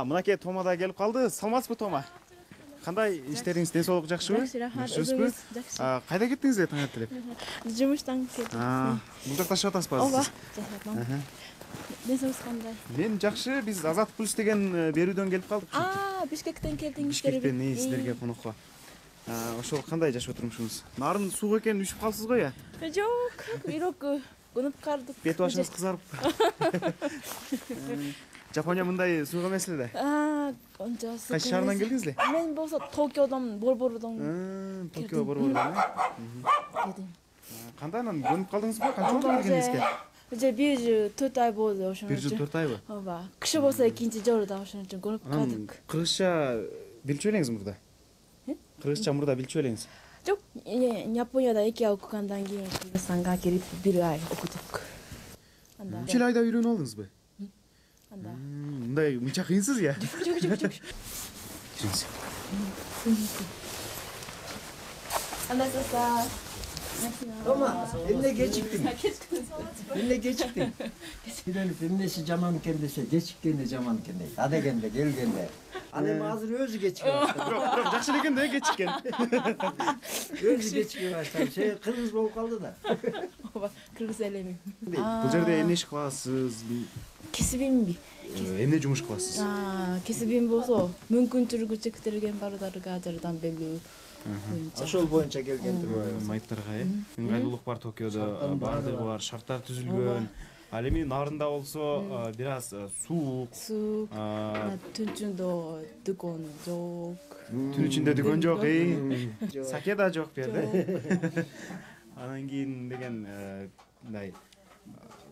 Мынакей Тома да келип калды. Саламатсызбы, Тома? Кандай иштериңиз, ден соолук жакшыбы? Жакшы, рахмат. Өзүңүз жакшы. Кайда кеттиңиз таң эле? Жумуштан келдим. Бул жакта жашап атасызбы? Ооба, жашап. Ден соолугуңуз кандай? Мен жакшы. Биз Азат Плюс деген берүүдөн келип калдык. Бишкектен келдиңиздер. Бишкектен сиздерге конокко. Ошол кандай жашоо турмушуңуз? Нарын суук экенин үшүп калсыз го я? Жок, бирок көнүп калдык. Бет башыңыз кызарып. Жапония мындай суук эмес эле да. Ончасы. Кайсы шаарынан келдиңиз эле? Мен болсо Токиодон, Борбордон. Токио Борбордон. Келдим. Кандай анан көнүп калдыңызбы? Канча болду келгениңизге? Уже 1 жыл 4 ай болду ошондо. 1 жыл 4 айбы? Ооба. Кышы болсо экинчи жолуда ошон үчүн көнүп калдык. Кыргызча билчү элеңиз мурда? Кыргызча мурда билчү элеңиз? Жок, Японияда 2 ай окугандан кийин Кыргызстанга келип 1 ай окудук. Анда. 3 айда үйрөнүп алдыңызбы? Анда. Мындай мынча кыйынсыз я? Жок. Кириңиз. Анда саса. Тома, эмне кечиктиң? Эмне кечиктиң? Үйрөнүп эмнеси жаман экен десе, кечиккенде жаман экен дейт. А дегенде келгенде. Ал эми азыр өзү кечиккен. Бирок жакшы экен да кечиккен. Өзү кечикке баштап, кыргыз болуп калды да. Ооба, кыргыз элемин. Бул жерде эмне иш кыласыз? Кесибимби? Эмне жумуш кыласыз? Кесибим болсо, мүмкүнчүлүгү чектелген балдарга жардам берүү. Ошол боюнча келгендир. Майыптарга, ыңгайлуулук бар Токиодо, баардыгы бар, шарттар түзүлгөн. Ал эми нарында болсо бир аз суук. Түнчүндө дүкөн жок. Түн ичинде дүкөн жок, саке да жок бу жерде. Анан кийин деген мындай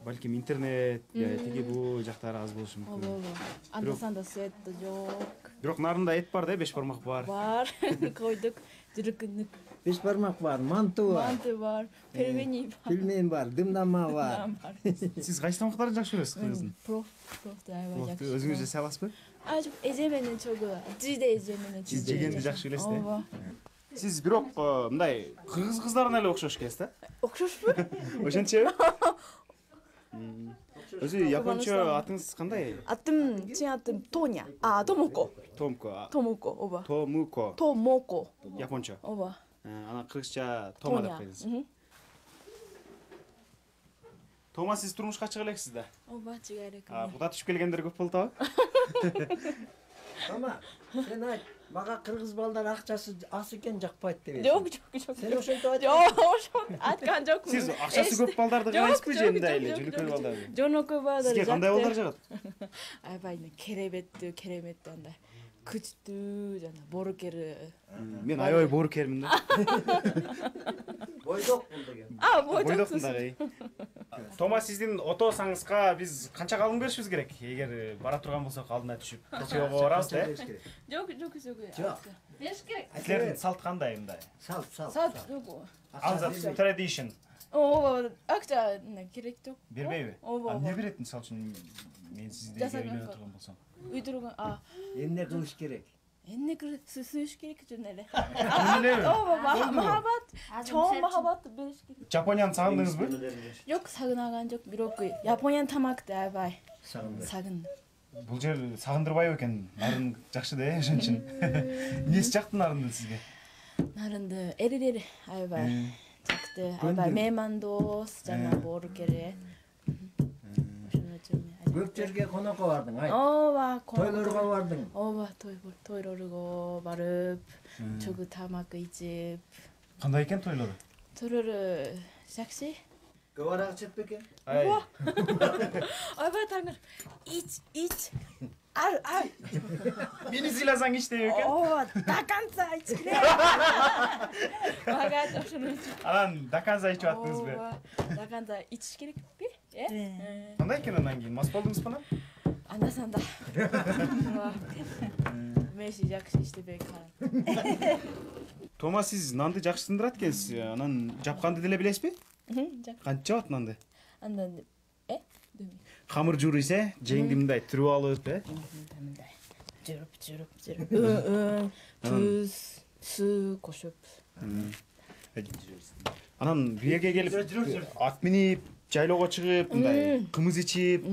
балким интернет, тиги бул жактары аз болушу мүмкүн. Ооба. Анда-санда свет да жок. Бирок нарында эт бар да, 5 бармак бар. Бар. Койдук. Жүрүкүнүк. 5 бармак бар, манты бар. Манты бар, пельмени бар. Пельмен бар, дымдама бар. Сиз кайсы тамактарды жакшы көрөсүз кыргыздын? Профты аябай жакшы. Өзүңүз жесе аласызбы? Жок, эже менен чогуу. Жиде эже менен. Сиз жегенди жакшы көрөсүз да? Ооба. Сиз бирок мындай кыргыз кыздарына эле окшош экенсиз да? Окшошпу? Ошентчеби? Өзү япончо атыңыз кандай? Чын атым Тоня. Томоко. Томоко, ооба. Томоко. Япончо. Ооба. Анан кыргызча Тома деп коюңуз. Тома, сиз турмушка чыга элексиз да? Ооба, чыга элек. Куда түшүп келгендер көп болду атабы? Тома, сен айт, мага кыргыз балдар акчасы аз экен жакпайт деп. Жок. Сен ошентип айт. Жок, ошон айткан жокмун. Сиз акчасы көп балдарды карайсызбы же мындай эле жөнөкөй балдарды? Жөнөкөй балдар. Сизге кандай балдар жагат? Аябай кереметтүү андай. Күчтүү жана боорукер. Мен аябай боорукермин да. Бойдок бул деген. Бойдокмун дагы. Тома, сиздин отосаңызга биз канча калың беришибиз керек? Эгер бара турган болсок алдына түшүп Токиого барабыз да? Жок. Бериш керек. Силердин салт кандай мындай? Салт. Жок. Tradition. Ооба, акча керек жок. Бербейби? Ооба. Эмне берет, мисалы үчүн мен сизди үйлөнө турган болсом? Үйдүргөн, Эмне кылыш керек? эмне сүйүш керек жөн эле. Ооба, махабат, чоң махабат бериш керек. Жапонияны сагындыңызбы? Жок, сагынаган жок, бирок Япониянын тамакты аябай сагындым. Бул жер сагындырбайбы экен? Нарын жакшы да, ошон үчүн. Эмнеси жакты нарындын сизге? Нарынды эрилери аябай жакты, аябай меймандос жана боорукер. Көп жерге конокко бардың, айт. Ооба, тойлорго бардың. Ооба, тойлорго барып, чогуу тамак ичип. Кандай экен тойлору? Тойлору жакшы. Көп арак ичет бекен? Аябай таңыр. Ич. Ай. Мени сыйласаң ич деп экен? Ооба, до конца ич керек. Мага ошону. Анан до конца ичип аттыңызбы? Ооба, до конца ичиш керекпи? Кандай экен анан кийин? Мас болдуңузбу анан? Анда-санда. Меши жакшы иштебей калам. Тома, сиз нанды жакшы сындырат экенсиз. Анан жапканды деле билесизби? Кантип жабат нанды? Андан Камыр жууруйсуз, жеңди мындай түрүп алып, мындай. Жүрүп. Туз, суу кошуп. Анан бу жерге келип ат минип, жайлоого чыгып, мындай кымыз ичип,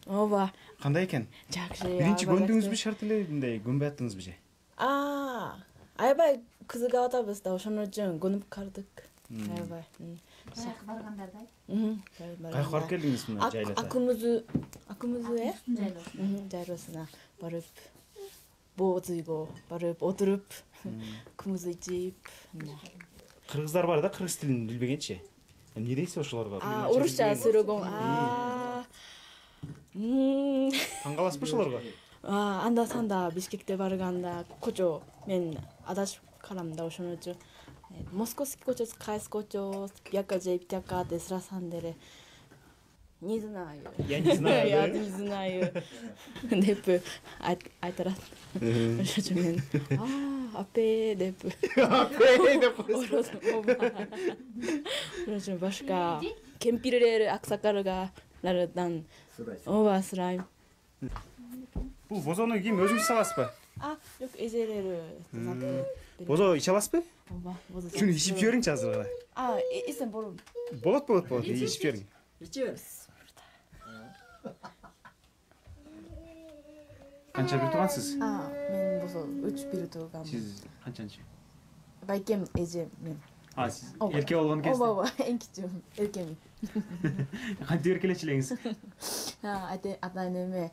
ооба. кандай экен? Жакшы. Биринчи көндүңүзбү шарт эле мындай көнбөй аттыңызбы же? Аябай кызыгып атабыз да, ошону үчүн көнүп калдык. Аябай. Каяка баргандардай. Каяка барып келдиңиз мына жайлата? Акымызы жайлоосуна барып, боз үйгө барып отуруп, кымыз ичип. Кыргыздар бар да, кыргыз тилин билбегенчи. Эмне дейсиз ошолорго? Орусча сүрөгөн. Таң каласызбы ошолорго? Анда санда Бишкекте барганда кочо мен адашып калам да, ошон үчүн Московский кочо, Кайс кочо, бияка же бияка деп сурасам деле не знаю. Я не знаю. Я не знаю. Деп айтарат. Ошон үчүн мен апе деп. Апе деп Ошон үчүн башка кемпирлер, аксакалдардан ооба сурайм. Бул бозону ким өзүңүз сабасызбы? Жок, эжелери. Бозо иче аласызбы? Ооба, бозо. Шуну ичип жибериңчи азыр гана. Исем болом. Болот. Ичип жибериң. ичи бер. Канча бир туугансыз? Мен бозо 3 бир туугам. Сиз канчанчы? Байкем эжем мен. Сиз эрке болгон кезде. Ооба, эң кичүүм эркем. Кантип эркелечү элеңиз? Ата энеме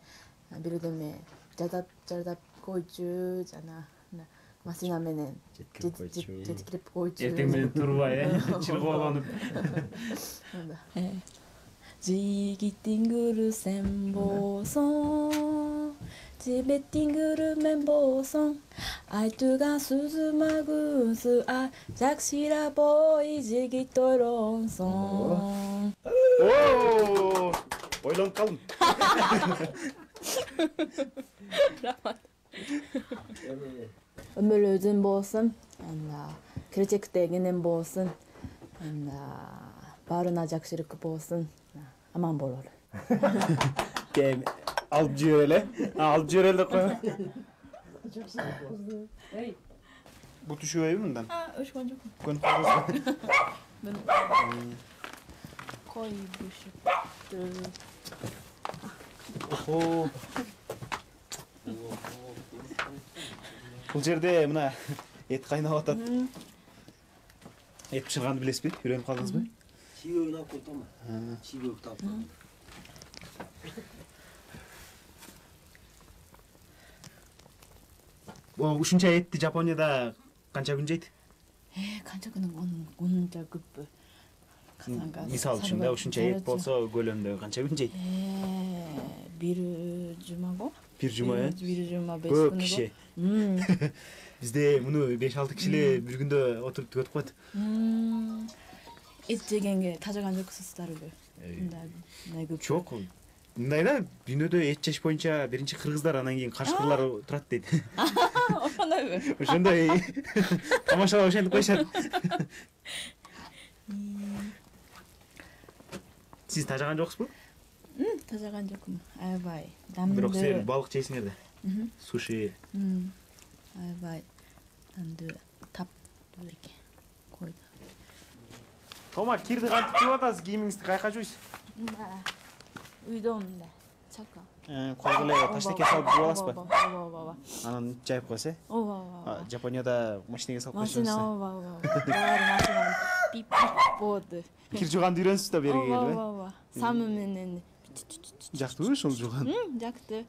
бирдеме жардап койчу, жана машина менен жеткирип койчу. Эртең менен турбай, чыргоолонуп. Жигиттин гүлү сен болсоң, жебеттин гүлү мен болсоң, айтууга сүзүмөгүнсү жакшыра бой жигит ойлонсоң. Ойлонуп калдым. Өмүр өзүн болсун, келечекте кенен болсун, баарына жакшылык болсун, аман бололу. Кем алып жибер эле. Алып жибер эле деп коем. Бут түшүбөйбү мындан? Өшкөн жокмун. Көнүп калдыңызбы? Кой бушуп. Бул жерде мына эт кайнап атат. Эт пышырганды билесизби? Үйрөнүп калдыңызбы? Чийөөгүн алып койтома. Чийөөгүн алып кой. Ушунча этти Жапонияда канча күн жейт? Канча күн онунча көппү. Мисалы үчүн да ушунча эт болсо көлөмдө канча күн жейт? Бир жумаго. Бир жума, Бир жума 5 Көп күнгө. киши. Бизде муну 5-6 киши эле бир күндө отуруп түгөтүп коет. Эт жегенге тажаган жоксуздарбы? Мындай көп. Жок. Мындай да, дүйнөдө эт жеш боюнча биринчи кыргыздар, анан кийин кашкырлар турат дейт. Ошондойбу? Ошондой тамашалап ошентип коюшат. Сиз тажаган жоксузбу? Тажаган жокмун. Аябай дамдуу. Бирок силер балык жейсиңер да. Суши. Аябай дамдуу таптуу экен. Койду. Тома, кирди кантип жууп атасыз? Кийимиңизди каяка жуйсуз? Үйдө мындай чака. Колго эле таштекке салып жууп аласызбы? Ооба. Анан жайып коесуз, Ооба. Жапонияда машинеге салып коюшсуз. Машина, ооба. Баары машина пип болду. Кир жууганды үйрөнсүз да бери келип. Ооба. Самы менен. Жактыбы ошол жууган? Жакты.